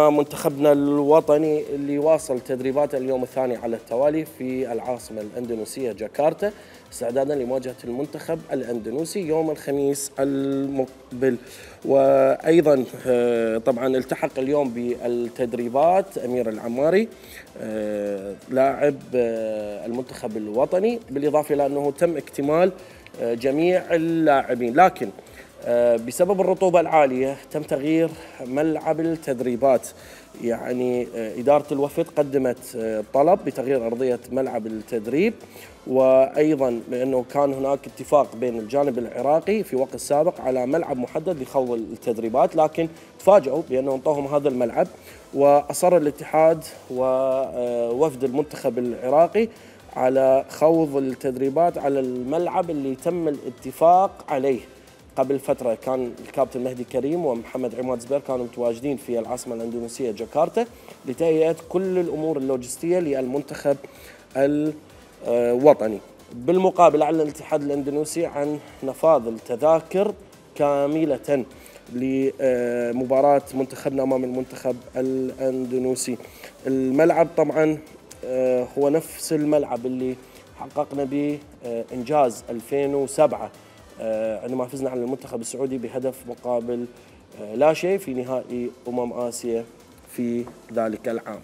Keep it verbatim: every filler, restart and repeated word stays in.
مع منتخبنا الوطني اللي واصل تدريباته اليوم الثاني على التوالي في العاصمة الأندونيسية جاكرتا، استعدادا لمواجهة المنتخب الأندونيسي يوم الخميس المقبل. وأيضا طبعا التحق اليوم بالتدريبات أمير العماري لاعب المنتخب الوطني، بالإضافة إلى أنه تم اكتمال جميع اللاعبين، لكن بسبب الرطوبة العالية تم تغيير ملعب التدريبات. يعني إدارة الوفد قدمت طلب بتغيير أرضية ملعب التدريب، وأيضا بأنه كان هناك اتفاق بين الجانب العراقي في وقت سابق على ملعب محدد لخوض التدريبات، لكن تفاجئوا بأنه انطوهم هذا الملعب، وأصر الاتحاد ووفد المنتخب العراقي على خوض التدريبات على الملعب اللي تم الاتفاق عليه قبل فترة. كان الكابتن مهدي كريم ومحمد عماد زبير كانوا متواجدين في العاصمة الأندونيسية جاكرتا لتهيئة كل الأمور اللوجستية للمنتخب الوطني. بالمقابل أعلن الاتحاد الأندونيسي عن نفاذ التذاكر كاملة لمباراة منتخبنا أمام المنتخب الأندونيسي. الملعب طبعا هو نفس الملعب اللي حققنا به إنجاز ألفين وسبعة عندما فزنا على المنتخب السعودي بهدف مقابل لا شيء في نهائي أمم آسيا في ذلك العام.